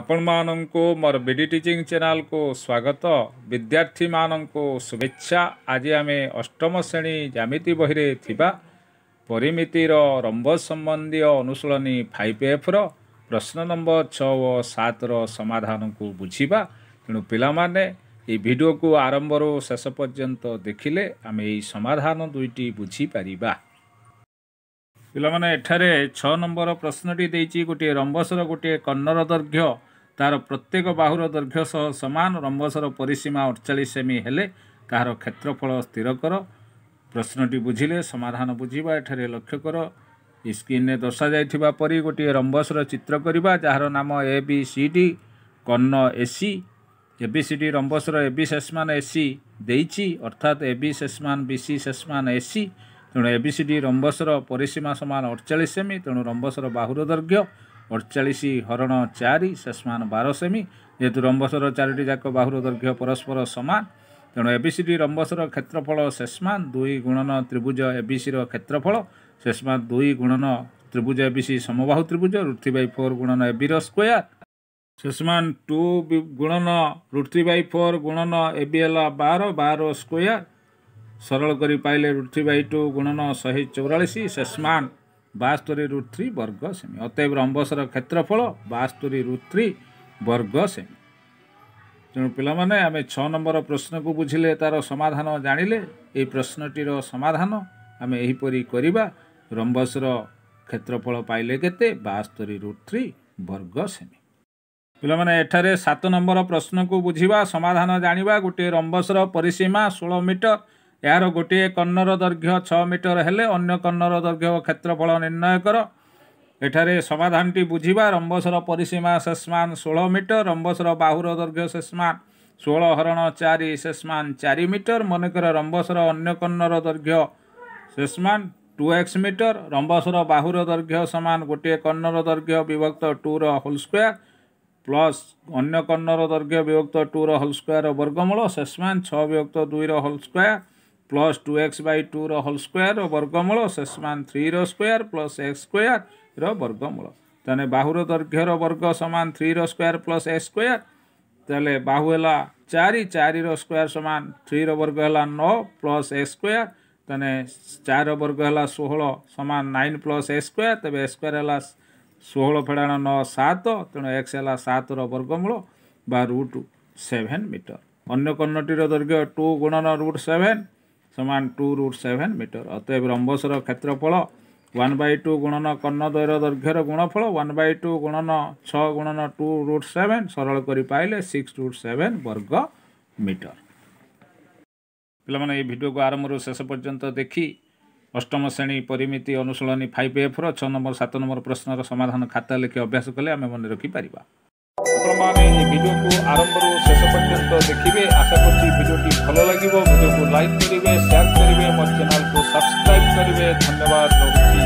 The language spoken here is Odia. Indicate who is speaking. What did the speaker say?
Speaker 1: ଆପଣମାନଙ୍କୁ ମୋର ବି ଡ଼ି ଟିଚିଂ ଚ୍ୟାନେଲକୁ ସ୍ୱାଗତ। ବିଦ୍ୟାର୍ଥୀମାନଙ୍କୁ ଶୁଭେଚ୍ଛା। ଆଜି ଆମେ ଅଷ୍ଟମ ଶ୍ରେଣୀ ଜ୍ୟାମିତି ବହିରେ ଥିବା ପରିମିତିର ରମ୍ବ ସମ୍ବନ୍ଧୀୟ ଅନୁଶୀଳନୀ 5Fର ପ୍ରଶ୍ନ ନମ୍ବର 6 ଓ 7ର ସମାଧାନକୁ ବୁଝିବା। ତେଣୁ ପିଲାମାନେ, ଏହି ଭିଡ଼ିଓକୁ ଆରମ୍ଭରୁ ଶେଷ ପର୍ଯ୍ୟନ୍ତ ଦେଖିଲେ ଆମେ ଏହି ସମାଧାନ ଦୁଇଟି ବୁଝିପାରିବା। ପିଲାମାନେ, ଏଠାରେ 6 ନମ୍ବର ପ୍ରଶ୍ନଟି ଦେଇଛି, ଗୋଟିଏ ରମ୍ବସର ଗୋଟିଏ କର୍ଣ୍ଣର ଦୈର୍ଘ୍ୟ ତାର ପ୍ରତ୍ୟେକ ବାହୁର ଦୈର୍ଘ୍ୟ ସହ ସମାନ। ରମ୍ବସର ପରିସୀମା 48 ସେମି ହେଲେ ତାହାର କ୍ଷେତ୍ରଫଳ ସ୍ଥିର କର। ପ୍ରଶ୍ନଟି ବୁଝିଲେ ସମାଧାନ ବୁଝିବା। ଏଠାରେ ଲକ୍ଷ୍ୟ କର, ସ୍କ୍ରିନ୍ରେ ଦର୍ଶାଯାଇଥିବା ପରି ଗୋଟିଏ ରମ୍ବସର ଚିତ୍ର କରିବା, ଯାହାର ନାମ ଏ ବି ସି ଡି, କର୍ଣ୍ଣ A C. A B C D ରମ୍ବସର ଏ ବି ଶେଷମାନ ଏ ସି ଦେଇଛି, ଅର୍ଥାତ୍ ଏ B ଶେଷମାନ B C ଶେଷମାନ A C. ତେଣୁ ଏ ବି ସି ଡି ରମ୍ବସର ପରିସୀମା ସମାନ 48 ସେମି। ତେଣୁ ରମ୍ବସର ବାହୁର ଦୈର୍ଘ୍ୟ 48 ହରଣ 4 ଶେଷମାନ 12 ସେମି। ଯେହେତୁ ରମ୍ବସର ଚାରୋଟି ଯାକ ବାହୁର ଦୈର୍ଘ୍ୟ ପରସ୍ପର ସମାନ, ତେଣୁ ଏ ବି ସି ଡି ରମ୍ବସର କ୍ଷେତ୍ରଫଳ ଶେଷମାନ 2 ଗୁଣନ ତ୍ରିଭୁଜ ଏ ବି ସିର କ୍ଷେତ୍ରଫଳ ଶେଷମାନ 2 ଗୁଣନ ତ୍ରିଭୁଜ ଏ ବି ସି ସମବାହୁ ତ୍ରିଭୁଜ ରୁଟ୍ ଥ୍ରୀ ବାଇ ଫୋର୍ ଗୁଣନ ଏ ବିର ସ୍କୋୟାର ଶେଷମାନ 2 ଗୁଣନ ରୁଟ୍ ଥ୍ରୀ ବାଇ ଫୋର୍ ଗୁଣନ ଏ ବି ହେଲା 12, 12 ସ୍କୋୟାର। ସରଳ କରି ପାଇଲେ ରୁଟ୍ ଥ୍ରୀ ବାଇ ଟୁ ଗୁଣନ 144 ଶେଷମାନ 72 ରୁଟ୍ ଥ୍ରୀ ବର୍ଗ ସେମି। ଅତଏବ ରମ୍ବସର କ୍ଷେତ୍ରଫଳ 72 ରୁଟ୍ ଥ୍ରୀ ବର୍ଗ ସେମି। ତେଣୁ ପିଲାମାନେ, ଆମେ 6 ନମ୍ବର ପ୍ରଶ୍ନକୁ ବୁଝିଲେ, ତା'ର ସମାଧାନ ଜାଣିଲେ। ଏହି ପ୍ରଶ୍ନଟିର ସମାଧାନ ଆମେ ଏହିପରି କରିବା। ରମ୍ବସର କ୍ଷେତ୍ରଫଳ ପାଇଲେ କେତେ? 72 ରୁଟ୍ ଥ୍ରୀ ବର୍ଗ ସେମି। ପିଲାମାନେ, ଏଠାରେ 7 ନମ୍ବର ପ୍ରଶ୍ନକୁ ବୁଝିବା, ସମାଧାନ ଜାଣିବା। ଗୋଟିଏ ରମ୍ବସର ପରିସୀମା 16 ମିଟର। ଏହାର ଗୋଟିଏ କର୍ଣ୍ଣର ଦୈର୍ଘ୍ୟ 6 ମିଟର ହେଲେ ଅନ୍ୟ କର୍ଣ୍ଣର ଦୈର୍ଘ୍ୟ ଓ କ୍ଷେତ୍ରଫଳ ନିର୍ଣ୍ଣୟ କର। ଏଠାରେ ସମାଧାନଟି ବୁଝିବା। ରମ୍ବସର ପରିସୀମା ଶେଷମାନ 16 ମିଟର। ରମ୍ବସର ବାହୁର ଦୈର୍ଘ୍ୟ ଶେଷମାନ 16 ହରଣ 4 ଶେଷମାନ 4 ମିଟର। ମନେକର ରମ୍ବସର ଅନ୍ୟ କର୍ଣ୍ଣର ଦୈର୍ଘ୍ୟ ଶେଷମାନ ଟୁ ଏକ୍ସ ମିଟର। ରମ୍ବସର ବାହୁର ଦୈର୍ଘ୍ୟ ସମାନ ଗୋଟିଏ କର୍ଣ୍ଣର ଦୈର୍ଘ୍ୟ ବିଭକ୍ତ ଟୁର ହୋଲ୍ ସ୍କୋୟାର ପ୍ଲସ୍ ଅନ୍ୟ କର୍ଣ୍ଣର ଦୈର୍ଘ୍ୟ ବିଭକ୍ତ ଟୁର ହୋଲ୍ ସ୍କୋୟାର ବର୍ଗମୂଳ ଶେଷମାନ 6 ବିଭକ୍ତ 2ର whole square plus two X by tour whole square ବର୍ଗମୂଳ ଶେଷମାନ ଥ୍ରୀର ସ୍କୋୟାର ପ୍ଲସ୍ ଏକ୍ସ ସ୍କୋୟାରର ବର୍ଗମୂଳ। ତାହେଲେ ବାହୁର ଦୈର୍ଘ୍ୟର ବର୍ଗ ସମାନ ଥ୍ରୀର ସ୍କୋୟାର ପ୍ଲସ୍ ଏକ୍ସ ସ୍କୋୟାର। ତାହେଲେ ବାହୁ ହେଲା 4, 4ର ସ୍କୋୟାର ସମାନ ଥ୍ରୀର ବର୍ଗ ହେଲା 9 ପ୍ଲସ୍ ଏକ୍ସ ସ୍କୋୟାର। ତାହେଲେ 4ର ବର୍ଗ ହେଲା 16 ସମାନ 9 ପ୍ଲସ୍ ଏକ୍ସ ସ୍କୋୟାର। ତେବେ ଏକ୍ସ ସ୍କୋୟାର ହେଲା 16 ଫେଡ଼ାଣ 9, 7। ତେଣୁ ଏକ୍ସ ହେଲା 7ର ବର୍ଗମୂଳ ବା ରୁଟ୍ 7 ମିଟର। ଅନ୍ୟ କର୍ଣ୍ଣଟିର ଦୈର୍ଘ୍ୟ ଟୁ ଗୁଣନ ରୁଟ୍ 7 ସମାନ ଟୁ ରୁଟ୍ 7 ମିଟର। ଅତଏବ ରମ୍ବସର କ୍ଷେତ୍ରଫଳ ୱାନ୍ ବାଇ ଟୁ ଗୁଣନ କର୍ଣ୍ଣଦ୍ୱୟର ଦୈର୍ଘ୍ୟର ଗୁଣଫଳ ୱାନ୍ ବାଇ ଟୁ ଗୁଣନ 6 ଗୁଣନ ଟୁ ରୁଟ୍ 7। ସରଳ କରି ପାଇଲେ ସିକ୍ସ ରୁଟ୍ 7 ବର୍ଗ ମିଟର। ପିଲାମାନେ, ଏହି ଭିଡ଼ିଓକୁ ଆରମ୍ଭରୁ ଶେଷ ପର୍ଯ୍ୟନ୍ତ ଦେଖି ଅଷ୍ଟମ ଶ୍ରେଣୀ ପରିମିତି ଅନୁଶୀଳନୀ 5Fର 6 ନମ୍ବର, 7 ନମ୍ବର ପ୍ରଶ୍ନର ସମାଧାନ ଖାତା ଲେଖି ଅଭ୍ୟାସ କଲେ ଆମେ ମନେ ରଖିପାରିବା। ଆପଣମାନେ ଏହି ଭିଡ଼ିଓକୁ ଆରମ୍ଭରୁ ଶେଷ ପର୍ଯ୍ୟନ୍ତ ଦେଖିବେ। ଆଶା କରୁଛି ଭିଡ଼ିଓଟି ଭଲ ଲାଗିବ। ଭିଡ଼ିଓକୁ ଲାଇକ୍ କରିବେ, ସେୟାର କରିବେ, ମୋ ଚ୍ୟାନେଲକୁ ସବସ୍କ୍ରାଇବ୍ କରିବେ। ଧନ୍ୟବାଦ, ରହୁଛି।